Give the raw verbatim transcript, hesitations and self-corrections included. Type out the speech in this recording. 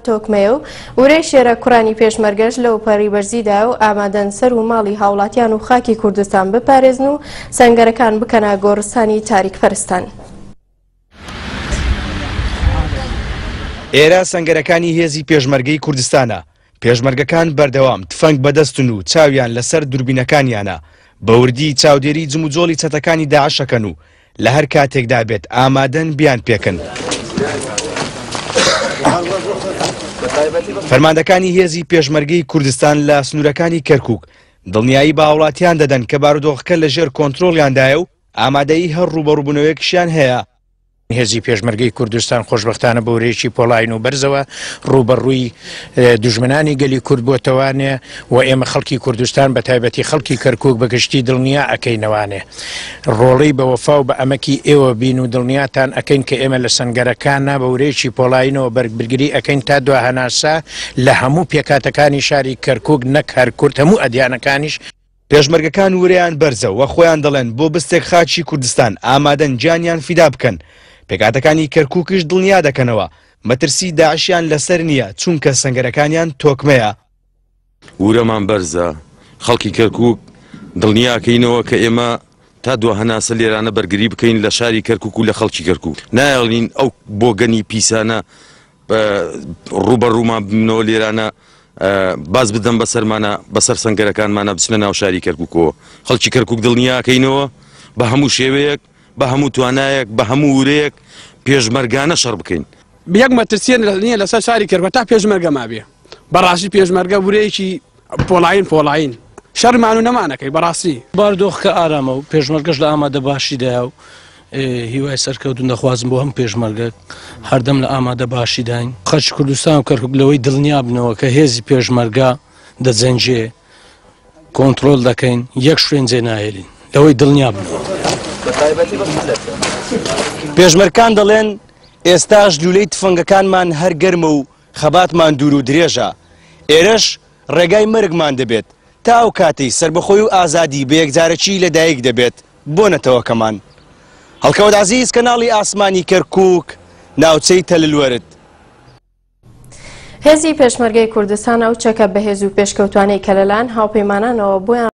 تۆکمەیە و ورەی شێرە کوڕانی پێشمەرگەش لەو پەڕی بەرزیدا و ئامادەن سەر و ماڵی هاوڵاتیان و خاکی کوردستان بپارێزن و سەنگەرەکان بکەنە گۆڕستانی تاریک پەرستان. ئێرە سەنگەرەکانی هێزی پێشمەرگەی کوردستانە. پێشمەرگەکان بەردەوام تفەنگ بەدەستن و چاویان لەسەر دووربینەکانیانە، بە وردی چاودێری جموجۆڵی چەتەکانی داعشەکەن و لە هەر کاتێکدا بێت ئامادەن بیان پێکن. فەرماندەکانی هێزی پێشمەرگەی کوردستان لە سنوورەکانی کەرکوک دڵنیایی بە هاوڵاتیان دەدەن کە بارودۆخەکە لەژێر کۆنترۆڵیاندایە و ئامادەیی هەر ڕووبەڕووبوونەوەیەکیشیان هەیە. هێزی پێشمەرگەی کوردستان خۆشبەختانە بە ورەیەکی پۆڵاین و بەرزەوە ڕووبەڕووی دوژمنانی گەلی کورد بۆتەوانێ و ئێمە خەڵکی کوردستان بە تایبەتی خەڵکی کەرکوک بەگشتی دڵنیا ئەکەینەوانێ. ڕۆڵەی بە وەفا و بە ئەمەکی ئێوە بین و دڵنیاتان ئەکەین کە ئێمە لە سەنگەرەکانە بە ورەیەکی پۆڵاینەوە بەرگری ئەکەین تا دوا هەناسە لە هەموو پێکاتەکانی شاری کەرکوک نەک هەر کورد هەموو ئەدیانەکانیش. پێشمەرگەکان ورەیان بەرزە و خۆیان دەڵێن بۆ بستێک خاکی کوردستان ئامادەن گیانیان فیدا بکەن. پێکاتەکانی کەرکوکیش دڵنیا دەکەنەوە مەترسی داعشیان لەسەر نییە چونکە سەنگەرەکانیان تۆکمەیە. ورەمان بەرزە، خەڵکی کەرکوک دڵنیاکەینەوە کە ئێمە تا دوا هەناسە لێرانە بەرگری بکەین لە شاری کەرکوک و لە خەڵکی کەرکوک. نایەڵین ئەو بۆگەنی پیسانە ڕووبەڕوومان ببنەوە لێرانە باز بدەم بەسەرمانە بەسەر سەنگەرەکانمانە بچنە ناو شاری کەرکوکەوە. خەڵکی کەرکوک دڵنیاکەینەوە بە هەموو شێوەیەک، بە هەموو توانایەک، بە هەموو ورەیەک پێشمەرگانە شەڕ بکەین. یەک مەترسیە نییە لەسەر شاری کەرکوک تا پێشمەرگە مابێ. بەڕاستی پێشمەرگە ورەیەکی پۆڵاین پۆڵاین شەرمان و نەمانەکەی بەڕاستی. بارودۆخەکە ئارامە و پێشمەرگەش لە ئامادە باشیدایە و هیوای سەرکەوتن دەخوازم بۆ هەم پێشمەرگە هەردەم لە ئامادە باشیداین. خەڵکی کوردستان و کەرکوک لەوەی دڵنیا بنەوە کە هێزی پێشمەرگە دەجەنگێ، کۆنترۆل دەکەین، یەک شوێن جێ ناهێلین، لەوەی دڵنیا بنەوە. پێشمەرگەکان دەڵێن ئێستاش لولەی تفەنگەکانمان هەر گەرمە و خەباتمان دوور و درێژە. ئێرەش ڕێگای مەرگمان دەبێت تا ئەو کاتەی سەربەخۆی و ئازادی بە یەکجارەکی لەدایک دەبێت بۆ نەتەوەکەمان. هەڵکەوت عەزیز، کەناڵی ئاسمانی کەرکوک، ناوچەی تەللوەرد. هێزی پێشمەرگەی کوردستان ئەو چەکە بەهێز و پێشکەوتوانەی کە لەلایەن هاوپەیمانانەوە بۆیان